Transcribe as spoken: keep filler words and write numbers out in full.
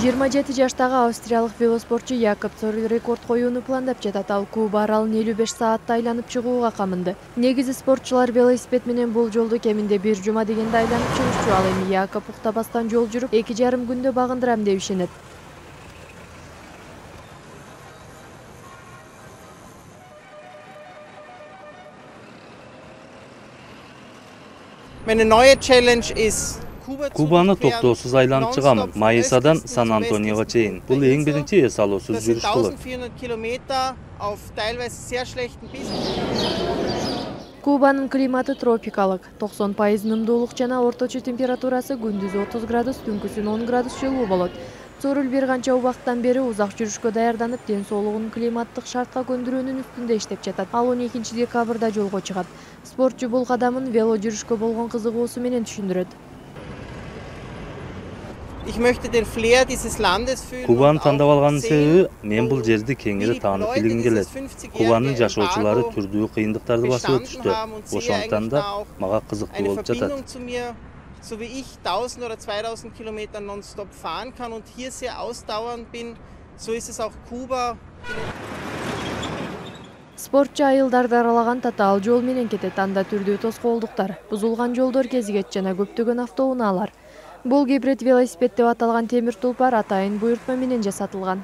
жыйырма жети жаштагы австриялык велоспортчу Якоб Цориль рекорд коюуну пландап жатат. Ал Куба аралын элүү беш саатта айланып чыгууга камынды. Негизи спортчулар велосипед менен бул жолду кеминде бир жума дегенде айланып чыгышчу. Ал эми Якоб уктабастан жол жүрүп, эки жарым күндө багындырам деп ишенет. Meine neue Challenge ist Кубаны токтоосуз айланып чыгамын. Майысадан Сан-Антониого чейин. Бул эң биринчи эс алуусуз жүрүш болот. Кубанын климаты тропикалык. токсон пайыз нымдуулук жана орточо температурасы күндүзү отуз градус, түнкүсүн он градус жылуу болот. Цориль бир канча убакыттан бери узак жүрүшкө даярданып, ден соолугун климаттык шартка көндүрүүнүн үстүндө иштеп жатат. Ал он экинчи декабрда жолго чыгат. Спортчу бул кадамын вело жүрүшкө болгон кызыгуусу менен түшүндүрөт. Кубаны тандап алганын себеби мен бул жерди кеңири таанып билгим келет. Кубанын жашоочулары түрдүү кыйындыктарды басып өтүштү. Ошондуктан да мага кызыктуу болуп жатат. So wie ich tausend oder zweitausend Kilometer nonstop fahren kann und hier sehr ausdauernd bin, so ist es auch Kuba. Спортчу айылдарды аралаган татаал жол менен кетет. Анда түрдүү тоскоолдуктар, бузулган жолдор кезигет жана көптөгөн автоунаалар. Бул гибрид велосипед деп аталган темир тулпар атайын буйртма менен жасатылган.